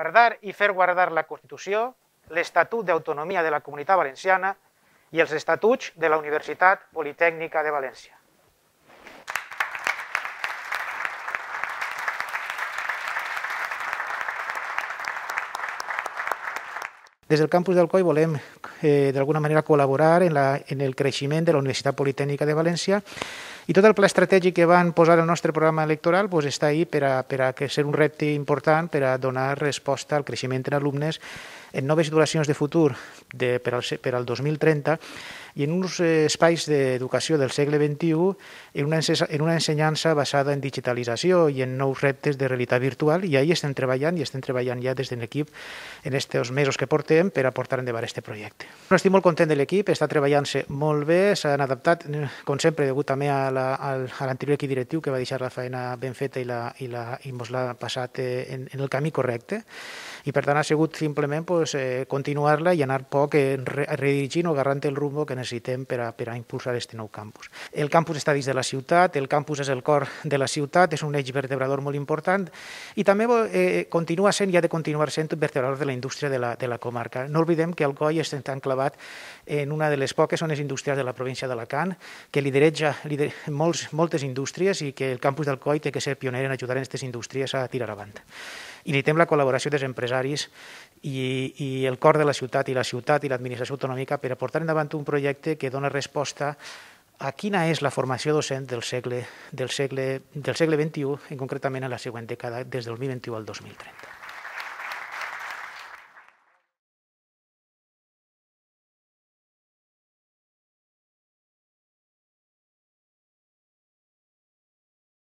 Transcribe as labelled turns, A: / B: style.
A: guardar i fer guardar la Constitució, l'Estatut d'Autonomia de la Comunitat Valenciana i els estatuts de la Universitat Politècnica de València. Des del campus d'Alcoi volem d'alguna manera col·laborar en el creixement de la Universitat Politècnica de València i tot el pla estratègic que van posar al nostre programa electoral està ahí per a ser un repte important per a donar resposta al creixement en alumnes en noves titulacions de futur per al 2030 i en uns espais d'educació del segle XXI en una ensenyança basada en digitalització i en nous reptes de realitat virtual, i ahí estem treballant ja des de l'equip en aquests mesos que portem per a portar endavant aquest projecte. Estic molt content de l'equip, està treballant-se molt bé, s'han adaptat, com sempre, degut també a l'anterior equip directiu que va deixar la feina ben feta i ens l'ha passat en el camí correcte, i per tant ha sigut simplement continuar-la i anar poc redirigint o agarrant el rumbo que necessitem per a impulsar aquest nou campus. El campus està dins de la ciutat, el campus és el cor de la ciutat, és un eix vertebrador molt important i també continua sent i ha de continuar sent un vertebrador de la indústria de la comarca. No oblidem que Alcoi està enclavat en una de les poques zones industrials de la província d'Alacant, que lidereja moltes indústries i que el campus d'Alcoi té que ser pioner en ajudar aquestes indústries a tirar avant. I necessitem la col·laboració dels empresaris i el cor de la ciutat i l'administració autonòmica per a portar endavant un projecte que dona resposta a quina és la formació docent del segle XXI, concretament en la següent dècada, des del 2021 al 2030.